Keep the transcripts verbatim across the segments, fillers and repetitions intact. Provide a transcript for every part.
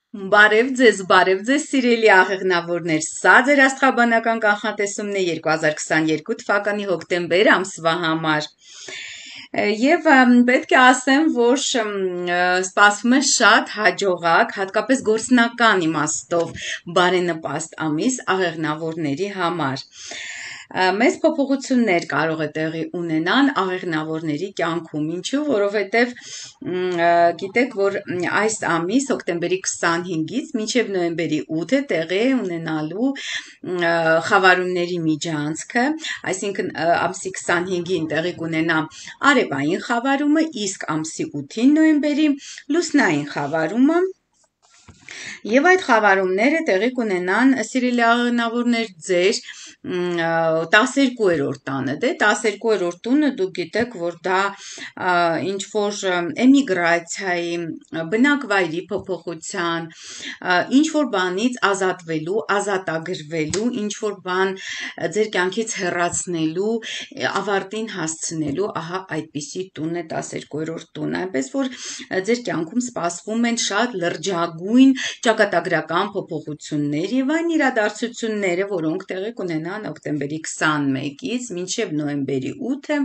Բարև ձեզ, բարև ձեզ, սիրելի աղեղնավորներ, սա ձեր աստղաբանական կանխատեսումն է երկու հազար քսաներկու թվականի հոկտեմբեր ամսվա համար։ Եվ պետք է ասեմ, որ սպասվում է շատ հաջողակ, հատկապես գործնական իմաստով բարենպաստ ամիս աղեղնավորների համար։ Մեծ փոփոխություններ կարող է տեղի ունենան աղեղնավորների կյանքում, ինչու, որովհետև գիտեք, որ այս ամիս հոկտեմբերի քսանհինգից մինչև նոյեմբերի ութը տեղի է ունենալու խավարումների միջանցքը, այսինքն ամսի քսանհինգին տեղի կունենա արևային խավարումը, իսկ ամսի ութին նոյեմբերի լուսնային խավարումը։ Եվ այդ խավարումները տեղի կունենան, սիրելի աղեղնավորներ, ձեր տասներկուերորդ տանը, դե տասներկուերորդ տունը դուք գիտեք, որ դա ինչ որ էմիգրացիայի, բնակվայրի փոփոխության, ինչ որ բանից ազատվելու, ազատագրվելու, ինչ որ բան ձեր կյանքից հեռացնելու, ավարտին հասցնելու, ահա այդպիսի տուն է տասներկուերորդ տունը, այնպես որ ձեր կյանքում սպասվում են շատ լրջագույն ճակատագրական փոփոխություններ եւ այն իրադարձությունները, որոնք տեղի կունենան հոկտեմբերի քսանմեկից մինչև նոյեմբերի ութը,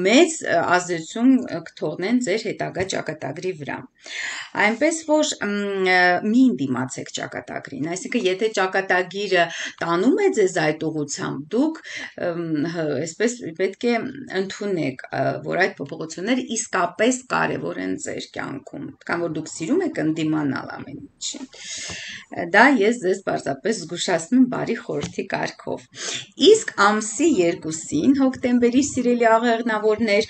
մեծ ազդեցություն կթողնեն ձեր հետագա ճակատագրի վրա։ Այնպես որ մի դիմացեք ճակատագրին, այսինքն եթե ճակատագիրը տանում է ձեզ այդ ուղղությամբ, դուք այսպես պետք է ընդունեք, որ այդ փոփոխությունները իսկապես կարևոր են ձեր կյանքում, քան որ դուք սիրում եք ընդդիմանալ ամեն ինչին։ Դա ես ձեզ պարզապես զգուշացնում եմ բարի խորհրդի կարգով։ Իսկ ամսի երկուսին հոկտեմբերի սիրելի աղեղնավորներ,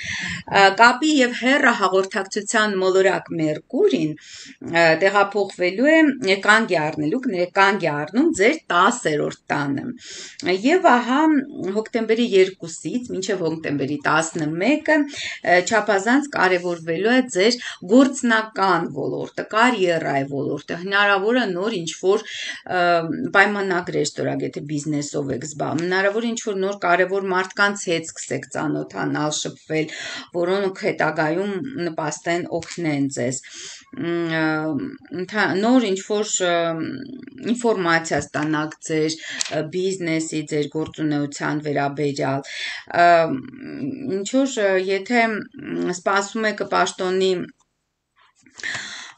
կապի եւ հեռահաղորդակցության մոլորակ Մերկուրին տեղափոխվելու է կանգ է առնելու, կանգ է առնում ձեր տասերորդ տանը։ Եվ ահա հոկտեմբերի երկուսից մինչև հոկտեմբերի տասնմեկը չափազանց կարևորվելու է ձեր գործնական ոլորտը, կարիերայի ոլորտը, հնարավոր է նոր ինչ որ պայմանագրեր ստորագրեք, եթե բիզնեսով եք զբաղվում, հնարավոր է ինչ որ նոր կարևոր մարդկանց հետ սկսեք ծանոթանալ, շփվել, որոնք հետագայում նպաստեն, օգնեն ձեզ, նոր ինչ որ ինֆորմացիա ստանաք ձեր բիզնեսի, ձեր գործունեության վերաբերյալ, ինչ որ եթե սպասում եք պաշտոնի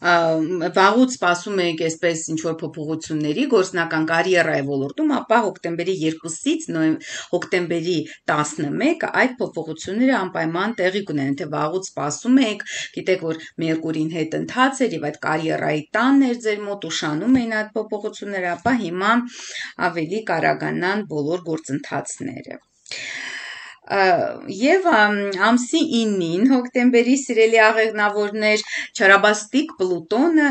վաղուց սպասում եք այսպես ինչ-որ փոփոխությունների գործնական կարիերայի ոլորտում, ապա հոկտեմբերի երկուսից հոկտեմբերի տասնմեկը այդ փոփոխությունները անպայման տեղի կունենան, եթե վաղուց սպասում եք, գիտեք, որ Մերկուրին հետ ընթաց էր եւ այդ կարիերայի տանն էր ձեր մոտ ուշանում էին այդ փոփոխությունները, ապա հիմա ավելի կարագանան բոլոր գործընթացները։ Եվ ամսի ինին հոկտեմբերի սիրելի աղեղնավորներ, չարաբաստիկ Պլուտոնը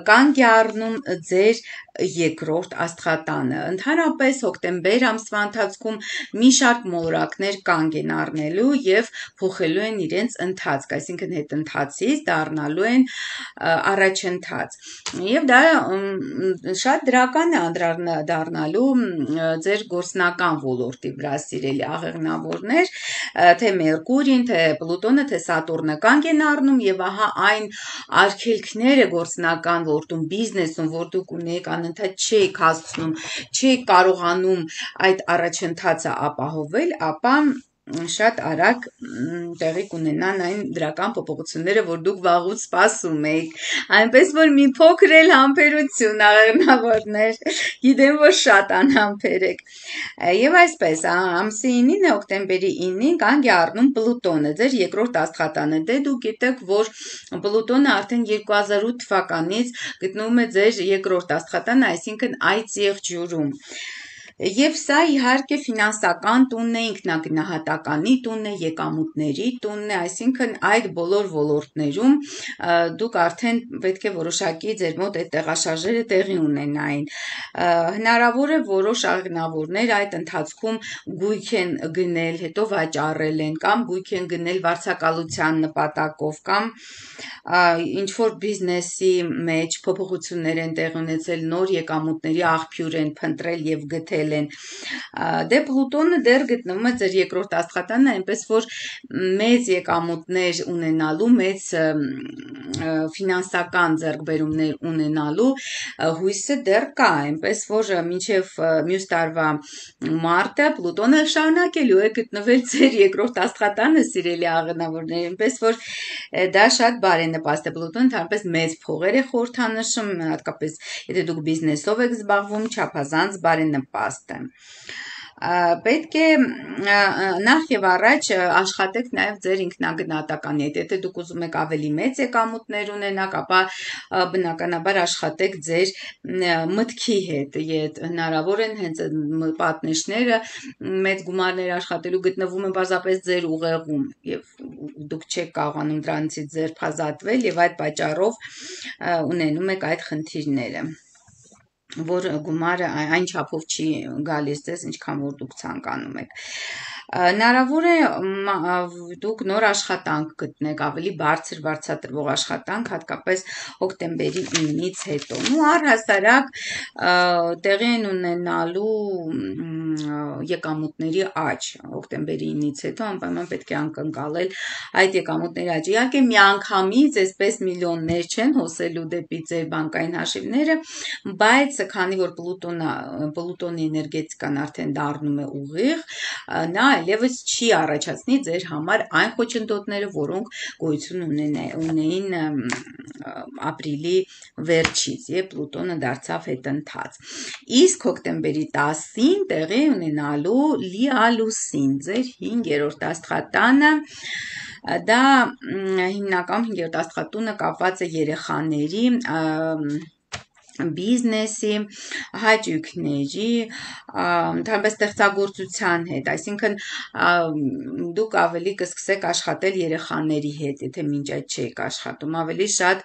կանգ է առնում ձեր երկրորդ աստղատանը։ Ընդհանրապես հոկտեմբեր ամսվա ընթացքում մի շարք մոլորակներ կանգ են առնելու եւ փոխելու են իրենց ընթացք, այսինքն հետընթացից դառնալու են առաջընթաց։ Եվ դա շատ դրական է անդրադառնալու ձեր գործնական ոլորտի վրա, սիրելի աղեղնավորներ, թե Մերկուրին, թե Պլուտոնը, թե Սատուրնը կանգ են առնում եւ ահա այն արգելքները գործնական ոլորտում, բիզնեսում, որ դուք ունեք, անընդհատ չեք հասցնում, չեք կարողանում այդ առաջընթացը ապահովել, ապա շատ արագ տեղի կունենան այն դրական փոփոխությունները, որ դուք վաղուց սպասում եք, այնպես որ մի փոքր էլ համբերություն աղեղնավորներ, գիտեմ, որ շատ անհամբեր եք։ Եվ այսպես, ամսի ինին հոկտեմբերի ինին կանգ է առնում Պլուտոնը, ձեր երկրորդ աստղատանը, դե դուք գիտեք, որ Պլուտոնը արդեն երկու հազար ութ թվականից գտնվում է ձեր երկրորդ աստղատանը, այսինքն այդ եղջյուրում։ Եվ սա իհարկե ֆինանսական տունն է, ինքնագնահատականի տունն է, եկամուտների տունն է, այսինքն այդ բոլոր ոլորտներում դուք արդեն պետք է որոշակի ձեր մոտ այդ տեղաշարժերը տեղի ունենային։ Հնարավոր է որոշ աղեղնավորներ այդ ընթացքում գույք են գնել, հետո վաճառել են, կամ գույք են գնել վարձակալության նպատակով, կամ ինչ որ բիզնեսի մեջ փոփոխություններ են տեղի ունեցել, նոր եկամուտների աղբյուր են փնտրել եւ գտել փոխել են։ Դե Պլուտոնը դեռ գտնվում է ձեր երկրորդ աստղատանը, այնպես որ մեծ եկամուտներ ունենալու, մեծ ֆինանսական ձեռքբերումներ ունենալու հույսը դեռ կա, այնպես որ մինչև մյուս տարվա մարտը Պլուտոնը շարունակելու է գտնվել ձեր երկրորդ աստղատանը, սիրելի աղնավորներ, այնպես որ դա շատ բարենպաստ է։ Պլուտոնը ընդհանրապես մեծ փողեր է խորհրդանշում, հատկապես եթե դուք բիզնեսով եք զբաղվում, չափազանց բարենպաստ է։ Պետք է նախ եւ առաջ աշխատեք նաեւ ձեր ինքնագնահատականի հետ, եթե դուք ուզում եք ավելի մեծ եկամուտներ ունենաք, ապա բնականաբար աշխատեք ձեր մտքի հետ, եթե հնարավոր են հենց պատնեշները մեծ գումարներ աշխատելու գտնվում են պարզապես ձեր ուղեղում եւ դուք չեք կարողանում դրանցից ձերբազատվել եւ այդ պատճառով ունենում եք այդ խնդիրները, որ գումարը այն չափով չի գալիս ձեզ, ինչքան որ դուք ցանկանում եք։ Հնարավոր է դուք նոր աշխատանք գտնեք, ավելի բարձր բարձրատրվող աշխատանք, հատկապես հոկտեմբերի ինից հետո։ Ու առհասարակ տեղի են ունենալու եկամուտների աճ հոկտեմբերի ինից հետո, անպայման պետք է անկնկալել այդ եկամուտների աճը։ Իհարկե միանգամից այսպես միլիոններ չեն հոսելու դեպի ձեր բանկային հաշիվները, բայց քանի որ Պլուտոնը Պլուտոնի էներգետիկան արդեն դառնում է ուղիղ, նա այլևս չի առաջացնի ձեր համար այն խոչընդոտները, որոնք գոյություն ունեին ապրիլի վերջից, երբ Պլուտոնը դարձավ հետընթաց։ Իսկ հոկտեմբերի տասին տեղի ունենալու լիալուսին, ձեր հինգերորդ աստղատանը, դա հիմնականում հինգերորդ աստղատունը կապված է երեխաների բիզնեսի, հաճույքների, ընդհանրապես ստեղծագործության հետ, այսինքն դուք ավելի կսկսեք աշխատել երեխաների հետ, եթե մինչ այդ չեք աշխատում, ավելի շատ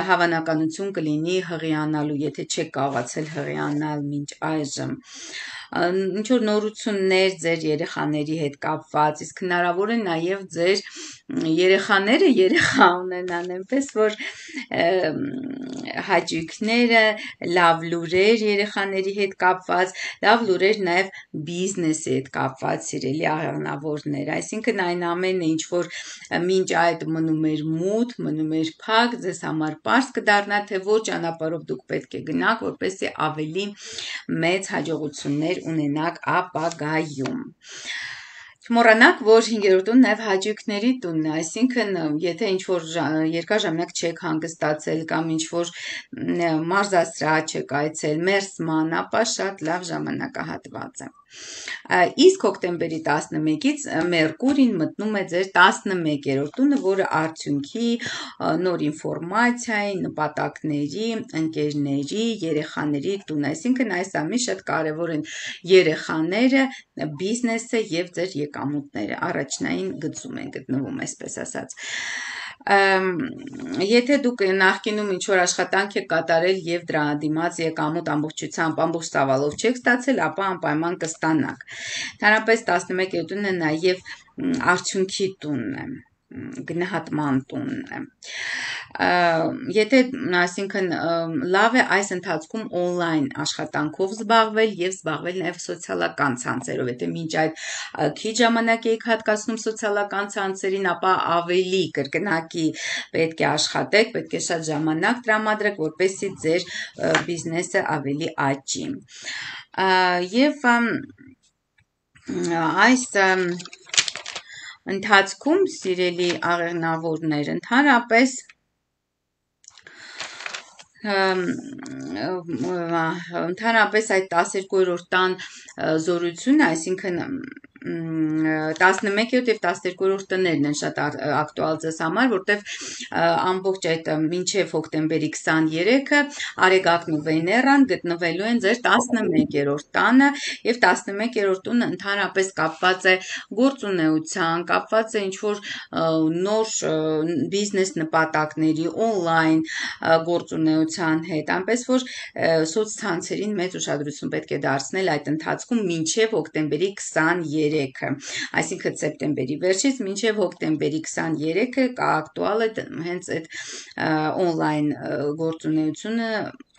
հավանականություն կլինի հղիանալու, եթե չեք կարողացել հղիանալ մինչ այժմ, ինչ որ նորություններ ձեր երեխաների հետ կապված, իսկ հնարավոր է նաև ձեր երեխաները երեխա ունենան, այնպես որ հաճույքները, լավ լուրեր երեխաների հետ կապված, լավ լուրեր նաև բիզնեսի հետ կապված, սիրելի աղնավորներ, այսինքն այն ամենը, ինչ որ մինչ այդ մնում էր մութ, մնում էր փակ, ձեզ համար պարզ կդառնա, թե որ ճանապարհով դուք պետք է գնաք, որպեսզի ավելի մեծ հաջողություններ ունենաք ապագայում։ Չմոռանաք, որ հինգերորդ տունը նաև հաճույքների տունն է, այսինքն եթե ինչ-որ երկար ժամանակ չեք հանգստացել կամ ինչ-որ մարզասրահ չեք այցել, մերսման, ապա շատ լավ ժամանակահատված է։ Իսկ հոկտեմբերի տասնմեկից Մերկուրին մտնում է ձեր տասնմեկերորդ տունը, որը արդյունքի, նոր ինֆորմացիայի, նպատակների, ընկերների, երեխաների տունը, այսինքն այս ամիս շատ կարևոր են երեխաները, բիզնեսը եւ ձեր եկամուտները, առաջնային գծում են գտնվում, այսպես ասած։ Եթե դուք նախկինում ինչ-որ աշխատանք եք կատարել եւ դրա դիմաց եկամուտ ամբողջությամբ ամբողջ ծավալով չեք ստացել, ապա անպայման կստանաք։ Ընդհանրապես տասնմեկերորդ տունը նաեւ արդյունքի տունն է, գնահատման տունն է։ Եթե, այսինքն, լավ է այս ընթացքում օնլայն աշխատանքով զբաղվել եւ զբաղվել նաեւ սոցիալական ցանցերով, եթե մինչ այդ քիչ ժամանակ եք հատկացնում սոցիալական ցանցերին, ապա ավելի կրկնակի պետք է աշխատեք, պետք է շատ ժամանակ տրամադրեք, որպեսզի ձեր բիզնեսը ավելի աճի։ Եվ այս ընթացքում, սիրելի աղեղնավորներ, ընդհանրապես ընդհանրապես այդ տասներկուերորդ տան զորությունը, այսինքն տասնմեկերորդ եւ տասներկուերորդ տներն են շատ ակտուալ ձեզ համար, որտեվ ամբողջ այդ մինչեւ հոկտեմբերի քսաներեքը Արեգակն ու Վեներան գտնվելու են ձեր տասնմեկերորդ տանը եւ տասնմեկերորդ տունը ընդհանրապես կապված է գործունեության, կապված է ինչ-որ նոր բիզնես նպատակների, օնլայն գործունեության հետ, այնպես որ սոցցանցերին մեծ ուշադրություն պետք է դարձնել այդ ընթացքում մինչեւ հոկտեմբերի քսաներեքը երեքը, այսինքն սեպտեմբերի վերջից մինչև հոկտեմբերի քսաներեքը ակտուալ է հենց այդ on-line գործունեությունը,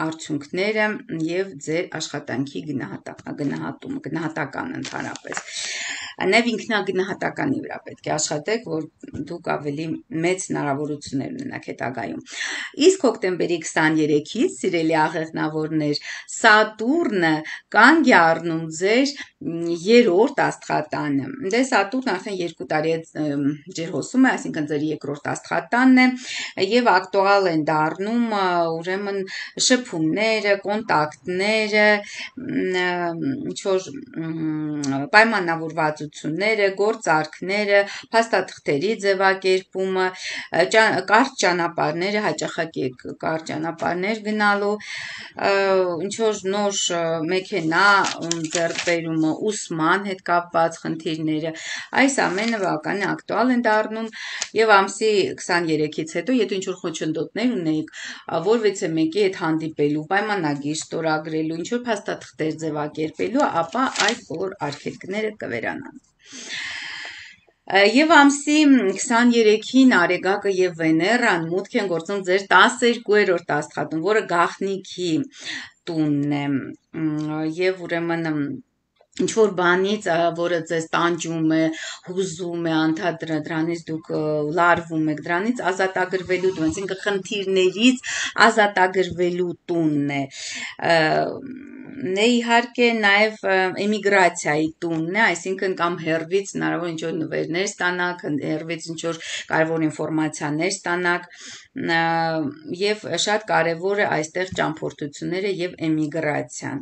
արդյունքները եւ ձեր աշխատանքի գնահատումը, գնահատական ընդհանրապես։ Նաև ինքնագնահատականի վրա պետք է աշխատեք, որ դուք ավելի մեծ հնարավորություններ ունենաք հետագայում։ Իսկ հոկտեմբերի քսաներեքից, սիրելի աղեղնավորներ, Սատուրնը կանգ է առնում ձեր երրորդ աստղատանը։ Դե Սատուրնը արդեն երկու տարի է ջրհոսում է, այսինքն ձեր երկրորդ աստղատանն է, եւ ակտուալ են դառնում ուրեմն շփումները, կոնտակտները, ինչ որ պայմանավորվածությունները, գործարքները, փաստաթղթերի ձևակերպումը, կարճ ճանապարհները, հաճախակի կարճ ճանապարհներ գնալու, ինչ որ նոր մեքենա ձեռք բերումը, ուսման հետ կապված խնդիրները, այս ամենը բավական ակտուալ են դառնում եւ ամսի քսաներեքից հետո, եթե ինչ որ խոչընդոտներ ունեիք, որևիցե մեկի հետ հանդիպելու, պայմանագիր ստորագրելու, ինչ որ փաստաթղթեր ձևակերպելու, ապա այդ բոլոր արգելքները կվերանան։ Եվ ամսի քսաներեքին Արեգակը եւ Վեներան մուտք են գործում ձեր տասներկուերորդ աստղատուն, որը գաղտնիքի տունն է, եւ ուրեմն ինչ որ բանից, որը ձեզ տանջում է, հուզում է, անդադր դրանից դուք լարվում եք, դրանից ազատագրվելու տուն, այսինքն խնդիրներից ազատագրվելու տունն է։ Նե իհարկե նաև էմիգրացիայի տունն է, այսինքն կամ հերվից հնարավոր ինչ որ նվերներ ստանաք, հերվից ինչ որ կարևոր ինֆորմացիաներ ստանաք, եւ շատ կարևոր է այստեղ ճամփորդությունները եւ էմիգրացիան։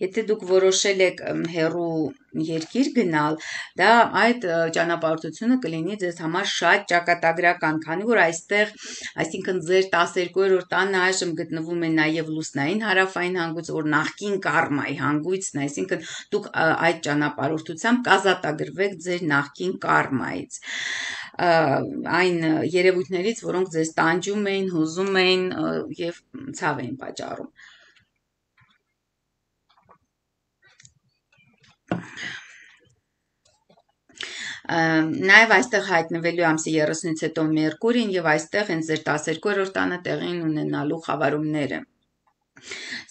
Եթե դուք որոշել եք հեռու երկիր գնալ, դա այդ ճանապարհորդությունը կլինի ձեզ համար շատ ճակատագրական, քանի որ այստեղ, այսինքն ձեր տասներկուերորդ տանը այժմ գտնվում է նաև լուսնային հարավային հանգույց, որ նախկին կարմայի հանգույցն է, այսինքն դուք այդ ճանապարհորդությամբ կազատագրվեք ձեր նախկին կարմայից, այն երևույթներից, որոնք ձեզ տանջում էին, հուզում էին եւ ցավ էին պատճառում։ Նաև այստեղ հայտնվելու ամսի երեսունից հետո Մերկուրին եւ այստեղ հենց ձեր տասներկուերորդ տանը տեղին ունենալու խավարումները։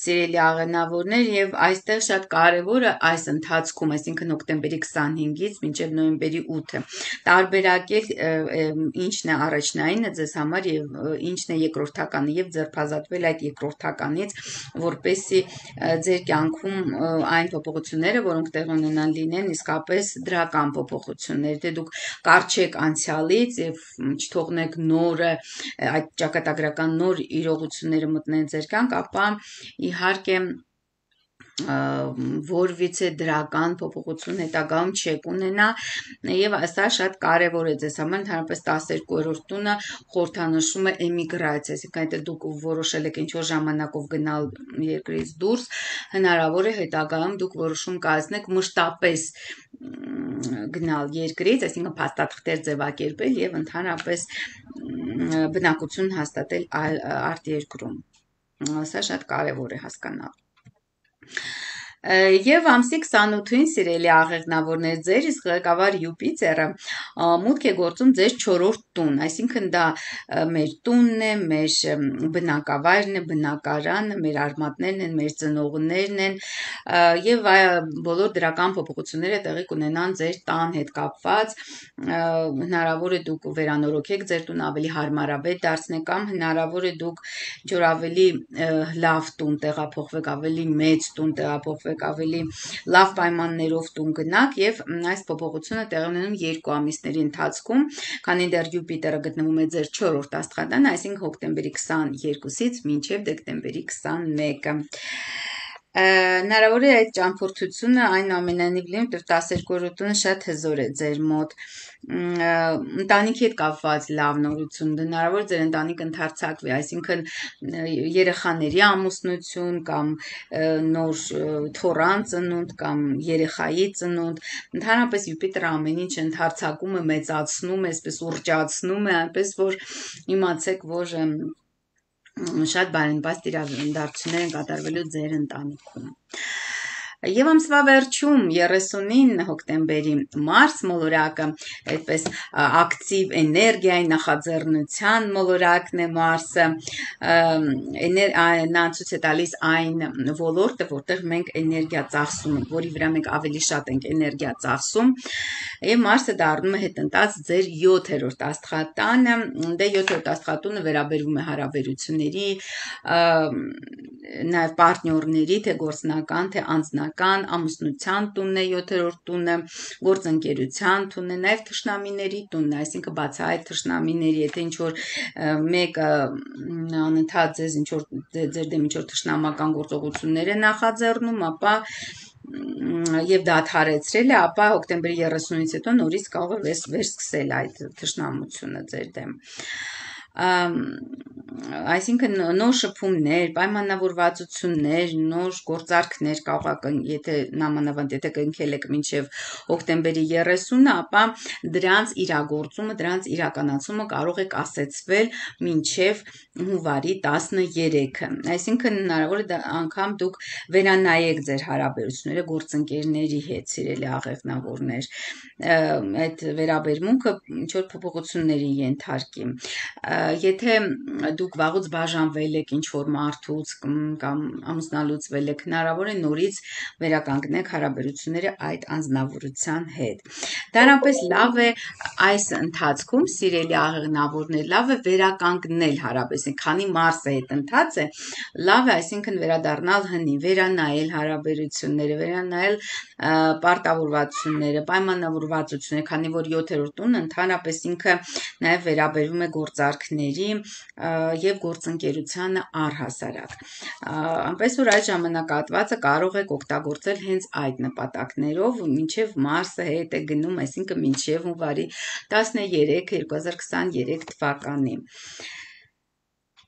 Սիրելի աղենավորներ, եւ այստեղ շատ կարևոր է այս ընթացքում, այսինքն հոկտեմբերի քսանհինգից մինչև նոյեմբերի ութը, տարբերակել ինչն է առաջնայինը ձեզ համար եւ ինչն է երկրորդականը եւ ձերբազատվել այդ երկրորդականից, որպեսզի ձեր կյանքում այն փոփոխությունները, որոնք տեղ ունենան, լինեն իսկապես դրական փոփոխություններ, թե դուք կարճեք անցյալից եւ չթողնեք նորը այդ ճակատագրական նոր իրողությունները մտնեն ձեր կյանք, ապա իհարկե որևիցե դրական փոփոխություն հետագայում չեք ունենա եւ սա շատ կարեւոր է ձեզ համար, ընդհանրապես տասներկուերորդ տունը խորհրդանշում է էմիգրացիա, այսինքն եթե դուք որոշել եք ինչ-որ ժամանակով գնալ երկրից դուրս, հնարավոր է հետագայում դուք որոշում կայացնեք մշտապես գնալ երկրից, այսինքն փաստաթղթեր ձևակերպել եւ ընդհանրապես բնակություն հաստատել արտերկրում։ Սա շատ կարեւոր է հասկանալ։ Եվ ամսի քսանութին սիրելի աղեղնավորներ, ձեր իսկ ղեկավար Յուպիտերը մուտք է գործում ձեր չորրորդ տուն, այսինքն դա մեր տունն է, մեր բնակավայրն է, բնակարանը, մեր արմատներն են, մեր ծնողներն են եւ բոլոր դրական փոփոխությունները տեղի կունենան ձեր տան հետ կապված, հնարավոր է դուք վերանորոգեք ձեր տուն, ավելի հարմարավետ դարձնեք, կամ հնարավոր է դուք ինչ-որ ավելի լավ տուն տեղափոխվեք, ավելի մեծ տուն տեղափոխվեք, ավելի լավ պայմաններով տուն գնաք եւ այս փոփոխությունը տեղի ունենում երկու ամիսների ընթացքում, քանի դեռ Յուպիտերը գտնվում է ձեր չորրորդ աստղատանը, այսինքն հոկտեմբերի քսաներկուսից մինչև դեկտեմբերի քսանմեկը։ Հնարավոր է այդ ճամփորդությունը այնուամենայնիվ լինի, որ տասներկուերորդ տունը շատ հզոր է ձեր մոտ, ընտանիքի հետ կապված լավ նորություն, հնարավոր ձեր ընտանիքը ընդարձակվի, այսինքն երեխաների ամուսնություն կամ նոր թոռան ծնունդ կամ երեխայի ծնունդ, ընդհանրապես Յուպիտերը ամեն ինչ ընդարձակում է, մեծացնում է, այսպես ուռճացնում է, այնպես որ իմացեք, որ շատ բարենպաստ իրադարձություններ են կատարվելու ձեր ընտանիքում։ Եվ ամսվա վերջում երեսունինը հոկտեմբերի Մարս մոլորակը այդպես ակտիվ էներգիայի նախաձեռնության մոլորակն է Մարսը, նա ցույց է տալիս այն ոլորտը, որտեղ մենք էներգիա ծախսում ենք, որի վրա մենք ավելի շատ ենք էներգիա ծախսում, եւ Մարսը դառնում է հետընթաց ձեր յոթերորդ աստղատանը, դե յոթերորդ աստղատունը վերաբերվում է հարաբերությունների, նաեւ պարտներների, թե գործնական, թե անձնական, ամուսնության տունն է յոթերորդ տունը, գործընկերության տունն է, նաեւ թշնամիների տունն է, այսինքն բացահայտ թշնամիների, եթե ինչ որ մեկը անընդհատ ձեզ ինչ որ ձեր դեմ ինչ որ թշնամական գործողություններ է նախաձեռնում, ապա եւ դադարեցրել է, ապա հոկտեմբերի երեսունից հետո նորից կարող է վերսկսել այդ թշնամությունը ձեր դեմ։ Այսինքն նոր շփումներ, պայմանավորվածություններ, նոր գործարքներ կարող է, եթե նամանավանդ եթե կնքել եք մինչև հոկտեմբերի երեսունը, ապա դրանց իրագործումը, դրանց իրականացումը կարող է կասեցվել մինչև հունվարի տասներեքը։ Այսինքն հնարավոր է անգամ դուք վերանայեք ձեր հարաբերությունները գործընկերների հետ, սիրելի աղեղնավորներ, այդ վերաբերմունքը ինչ որ փոփոխությունների ենթարկի։ Եթե դուք վաղուց բաժանվել եք ինչ որ մարդուց կամ ամուսնալուծվել եք, հնարավոր է նորից վերականգնեք հարաբերությունները այդ անձնավորության հետ։ Դրանպես լավ է այս ընթացքում, սիրելի աղեղնավորներ, լավ է վերականգնել հարաբերություն, քանի Մարսը հետընթաց է, լավ է, այսինքն վերադառնալ հնի, վերանայել հարաբերությունները, վերանայել պարտավորվածությունները, պայմանավորվածությունները, քանի որ յոթերորդ տունը ընդհանրապես ինքը նաև վերաբերվում է գործարքների եւ գործընկերությանը առհասարակ։ Այնպես որ այդ ժամանակահատվածը կարող եք օգտագործել հենց այդ նպատակներով, մինչև Մարսը հետ է գնում, այսինքն մինչև հունվարի տասներեքը երկու հազար քսաներեք թվականի։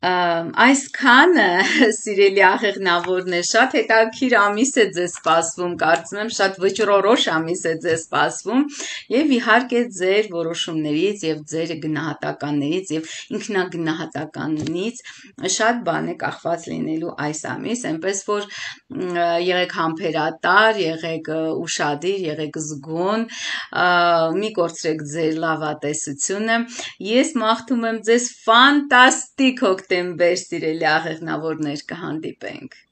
Այսքանը, սիրելի աղեղնավորներ, շատ հետաքրքիր ամիս է ձեզ սպասվում, կարծում եմ շատ վճռորոշ ամիս է ձեզ սպասվում եւ իհարկե ձեր որոշումներից եւ ձեր գնահատականներից եւ ինքնագնահատականից շատ բան է կախված լինելու այս ամիս, այնպես որ եղեք համբերատար, եղեք ուշադիր, եղեք զգոն, մի կորցրեք ձեր լավատեսությունը։ Ես մաղթում եմ ձեզ ֆանտաստիկ հոկտեմբեր, սիրելի աղեղնավորներ, կհանդիպենք։